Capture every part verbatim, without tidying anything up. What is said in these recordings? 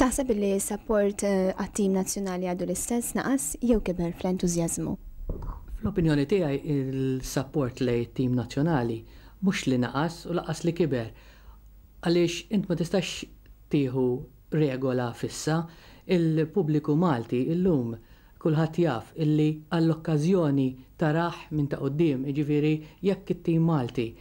Taħseb li s-support eh, għat-tim nazzjonali għadu l-istess, naqas jew kiber fl-entużjażmu? Fl-opinjoni tiegħi, il-support lejn tim nazzjonali mhux li naqas u lanqas li kiber. Għaliex int ma tistax tieħu regola fissa. Il-pubbliku Malti illum kulħadd jaf illi għall-okkażjoni tarah minn ta' quddiem, jiġifieri jekk it-tim Malti,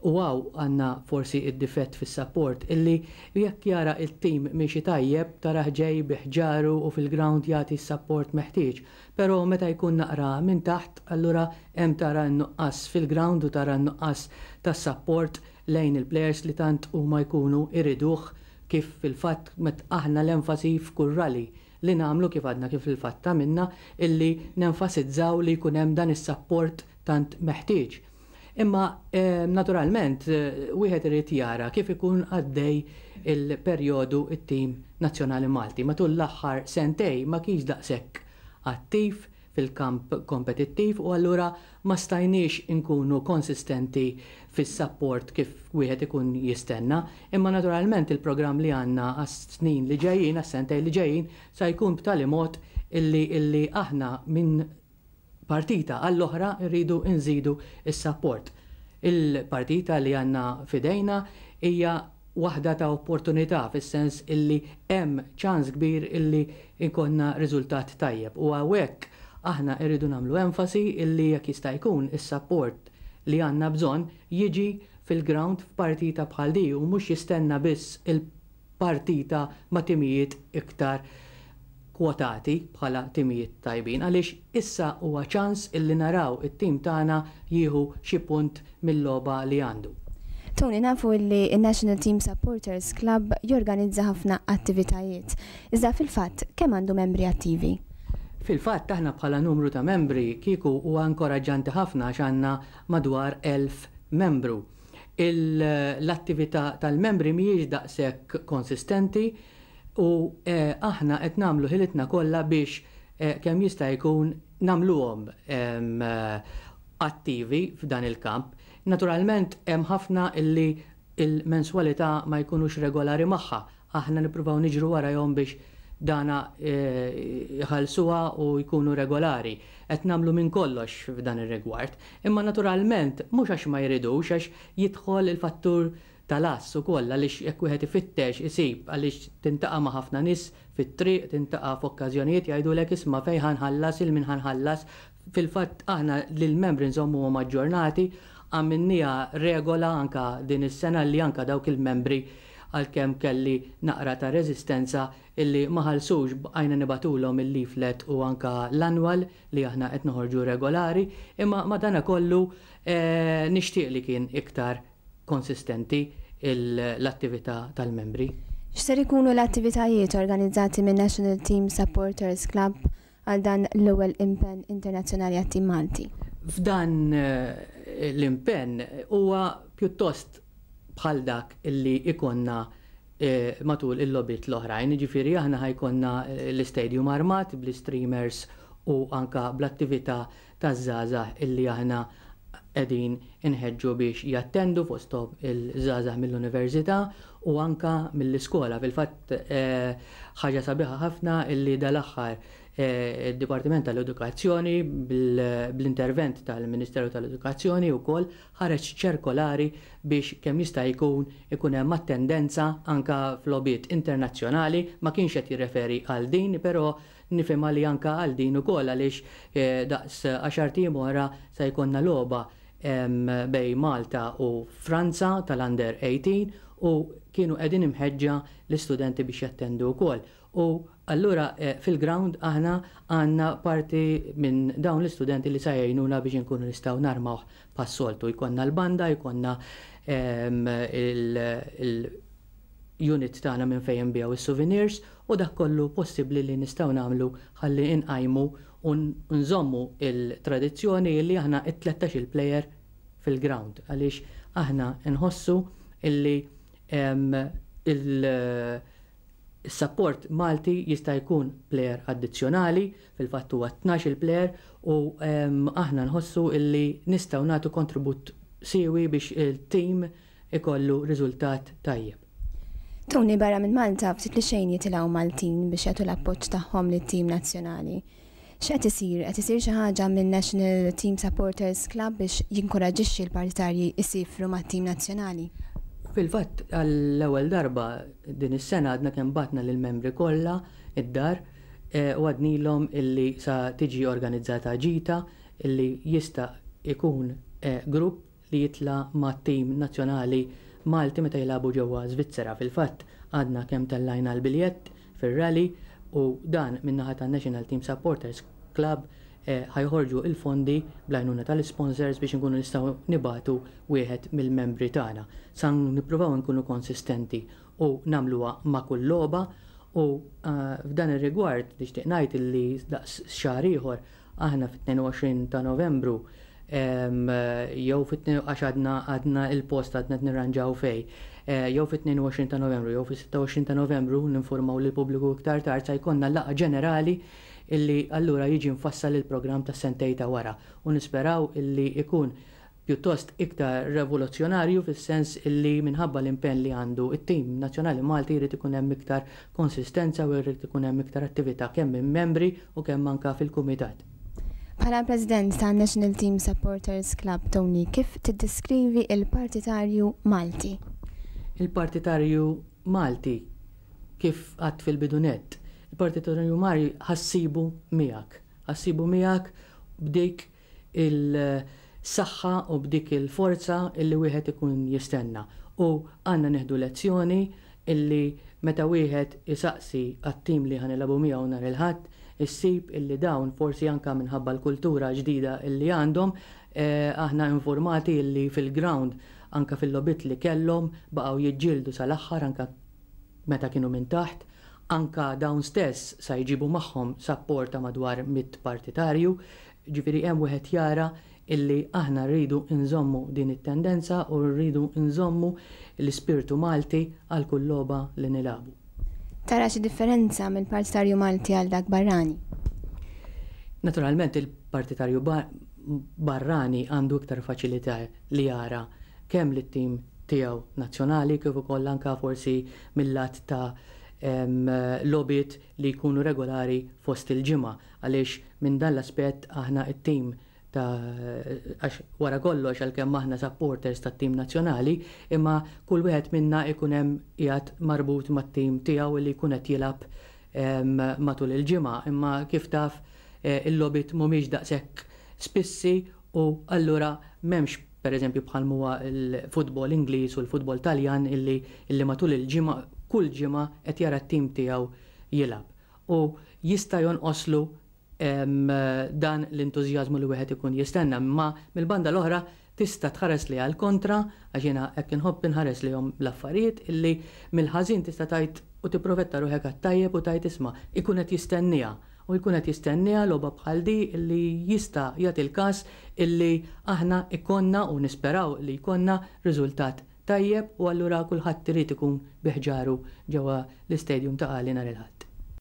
u hawn għandna forsi id-difett fis-support, illi jekk jara il-tim miexi tajjeb tarah ġej bi ħġaru u fil-ground jagħti s-support meħtieġ. Però meta jkun naqra minn taħt, allura hemm tara n-nuqqas fil-ground u tara n-nuqqas tas-support lejn il-players li tant huma jkunu iriduh, kif fil-fatt met aħna l-enfasi f'kull rally li nagħmlu, kif għadna kif fil-fatt minna illi nenfasizzaw li jkun hemm dan is-support tant meħtieġ. Imma eh, naturalment eh, wieħed irid jara kif ikun għaddej il-perjodu it-tim nazzjonali Malti. Matul l-aħħar sentejn ma kienx daqshekk attiv fil-kamp kompetittiv u allura ma stajniex inkunu konsistenti fis-support kif wieħed ikun jistenna. Imma naturalment il-programm li għandna għas-snin li ġejjin, għas-sentejn li ġejjin, sa jkun b'tali mod illi illi aħna minn partita għall-oħra rridu nżidu is-support. Il-partita li għandna f'idejna hija waħda ta' opportunità, fis-sens illi hemm ċans kbir illi jkollna riżultat tajjeb. U hawnhekk aħna rridu nagħmlu enfasi illi jekk jista' jkun is-support li għandna bżonn jiġi fil-ground f'partita bħal di u mhux jistenna biss il-partita ma' timijiet iktar kwotati bħala timijiet tajbin, għaliex issa huwa ċans illi naraw it-tim tagħna jieħu xi punt mill-logħba li għandu. Tony, nafu li il-National Team Supporters Club jorganizza ħafna attivitajiet. Iżda fil-fatt, kemm għandu membri attivi? Fil-fatt, aħna bħala numru ta' membri kieku huwa inkoraġġanti ħafna għax għandna madwar elf membru. L-attività tal-membri mhijiex daqshekk konsistenti u eh, aħna qed nagħmlu ħilitna kollha biex eh, kemm jista' jkun nagħmluhom eh, attivi f'dan il-kamp. Naturalment hemm ħafna illi il-menswalità ma jkunux regolari magħha. Aħna nippruvaw niġru warahom biex dana jħallsuha u jkunu regolari. Qed nagħmlu minn kollox f'dan ir-rigward. Imma naturalment mhux għax ma jridux, għax jidħol il-fattur tal-ass ukoll, għaliex jekk wieħed ifittex isib, għaliex tiltaqa' ma' ħafna nies fit-triq, tiltaqa' f'okkażjonijiet, jgħidulek, "Isma', fejn ħa nħallas, lil min ħa nħallas?" Fil-fatt aħna lill-membri nżommuhom aġġornati, għamilnieha regola anka din is-sena li anka dawk il-membri, għalkemm kelli naqra ta' rezistenza, illi ma ħallsux, bqajna nibagħtulhom il-leaflet u anka l-annual li aħna qed noħorġu regolari, imma madana kollu eh, nixtieq li kien iktar konsistenti l-attività tal-membri. X'ser ikunu l-attivitajiet organizzati minn National Team Supporters Club għal dan l-ewwel impenn internazzjonali għat-tim Malti? F'dan eh, l-impenn huwa pjuttost bħal dak illi ikollna eh, matul il-logħbiet l-oħrajn, ġifieri aħna ħa jkollna eh, l-istadium armat bl-streamers u anka bl-attività taż-żgħażagħ illi aħna qegħdin inħeġġu biex jattendu, fosthom il-żgħażagħ mill-università u anka mill-iskola. Fil-fatt eh, ħaġa sabiħa ħafna illi dal-aħħar eh, il-Dipartiment tal-Edukazzjoni, bl-intervent tal-Ministeru tal-Edukazzjoni wkoll, ħareġ ċirkolari biex kemm jista' jkun ikun hemm attendenza anka f'logħbiet internazzjonali. Ma kienx qed jirreferi għal din, però nifhimha li anka għal din ukoll, għaliex eh, daqs għaxart ijiem oħra se jkollna logħba bejn Malta u Franza tal-Under eighteen u kienu qegħdin imħeġġa l-istudenti biex jattendu wkoll. U allura eh, fil-ground aħna għandna parti minn dawn l-istudenti li sa jgħinuna biex nkunu nistgħu narmawh bħas-soltu. Jkollna l-banda, jkollna il-unit tagħna minn fejn nbigħu is-souvenirs u dak kollu possibbli li nistgħu nagħmlu ħalli inqajmu u nżommu il-tradizzjoni li aħna it-tlettax il-player fil-ground, għaliex aħna nħossu illi il-support Malti jista' jkun player addizzjonali, fil-fatt huwa tnax il-player, u aħna nħossu illi nistgħu nagħtu kontribut siewi biex il-team ikollu riżultat tajjeb. Tony, barra minn Malta ftit li xejn jitilgħu Maltin biex jagħtu l-appoġġ tagħhom lit-tim nazzjonali. X'qed isir? Qed isir xi ħaġa minn National Team Supporters Club biex jinkoraġixxi l-partitarji jsifru mat-tim nazzjonali? Fil-fatt, għall-ewwel darba din is-sena għadna kemm bgħatna lill-membri kollha id-dar eh, u għednielhom illi sa tiġi organizzata ġita illi jista' ikun eh, grupp li jitla' ma' tim nazzjonali Malti meta jilagħbu ġewwa Svizzera. Fil-fatt, għadna kemm tellajna l-biljett fir-rally u dan min-naħa tan National Team Supporters Club eh, ħa joħorġu il-fondi bl-għajnuna tal-sponsors biex nkunu nistgħu nibagħtu wieħed mill-membri tagħna. Sa nippruvaw nkunu konsistenti u nagħmluha ma' kull logħba u eh, f'dan ir-rigward nixtieq ngħid illi daqs xahar ieħor, aħna fit-tnejn u għoxrin ta' Novembru jew fit, għax għadna għadna il-post għadna nirranġaw fej, eh, jew fit-tnejn u għoxrin ta' Novembru jew fit-sitta u għoxrin ta' Novembru, ninformaw lill-pubbliku iktar tard, sa jkollna laqgħa ġenerali illi allura jiġi mfassal il-programm ta' sentejn ta' wara u nisperaw illi ikun pjuttost iktar revoluzzjonarju, fis-sens illi minħabba l-impenn li għandu it-tim nazzjonali Malti jrid ikun hemm iktar konsistenza u jrid ikun hemm iktar attività kemm minn membri u kemm anka fil-kumitat. Bħala President ta' National Team Supporters Club, Tony, kif tiddeskrivi il-partitarju Malti? Il-partitarju Malti, kif għedt fil-bidu nett, il-partitarju Malti ħa ssibu miegħek. Ħa ssibu miegħek b'dik il-saħħa u b'dik il-forza illi wieħed ikun jistenna. U għandna nieħdu lezzjoni illi meta wieħed isaqsi għat-tim li ħa nilagħbu miegħu nhar il-Ħadd, issib illi dawn forsi anka minħabba l-kultura ġdida illi għandhom, eh, aħna informati illi fil-ground, anka fil-logħbiet li kellhom, baqgħu jiġġieldu sal-aħħar anka meta kienu minn taħt, anka dawn stess sa jġibu magħhom support ta' madwar mitt partitarju, ġifieri hemm wieħed jara illi aħna rridu nżommu din it-tendenza u rridu nżommu l-ispirtu Malti għal kull logħba li nilagħbu. Tara xi differenza mill-partitarju Malti għal dak barrani? Naturalment, il-partitarju barrani għandu iktar faċilità li jara kemm lit-tim tiegħu nazzjonali kif ukoll anka forsi mill-lat ta' logħbiet li jkunu regolari fost il-ġimgħa, għaliex minn dan l-aspett aħna it-tim ta' għax wara kollox, għalkemm aħna supporters tat-tim nazzjonali, imma kull wieħed minna ikun hemm qiegħed marbut mat-tim tiegħu li jkun qed jilgħab matul il-ġimgħa, imma kif taf, eh, il-logħbiet mhumiex daqshekk spissi u allura m'hemmx, per eżempju, bħal huwa l-futbol Ingliż u l-futbol Taljan illi, illi matul il-ġimgħa, kull ġimgħa qed jara t-tim tiegħu jilgħab. U jista' jonqoslu dan l-entużjażmu li wieħed ikun jistenna, imma mill-banda l-oħra tista' tħares li għal kontra, għax jiena hekk inħobb inħares lejhom l-affarijiet, illi mill-ħażin tista' tgħid u tipprofetta ruħek għat-tajjeb u tgħid, isma', ikun qed jistenniha u jkun qed jistenniha logħba bħal di, illi jista' jagħti l-każ illi aħna ikonna u nisperaw li jkollna riżultat tajjeb u allura kulħadd irid ikun bi ħġaru ġewwa l-istadium Ta' Qali nhar il-Ħadd.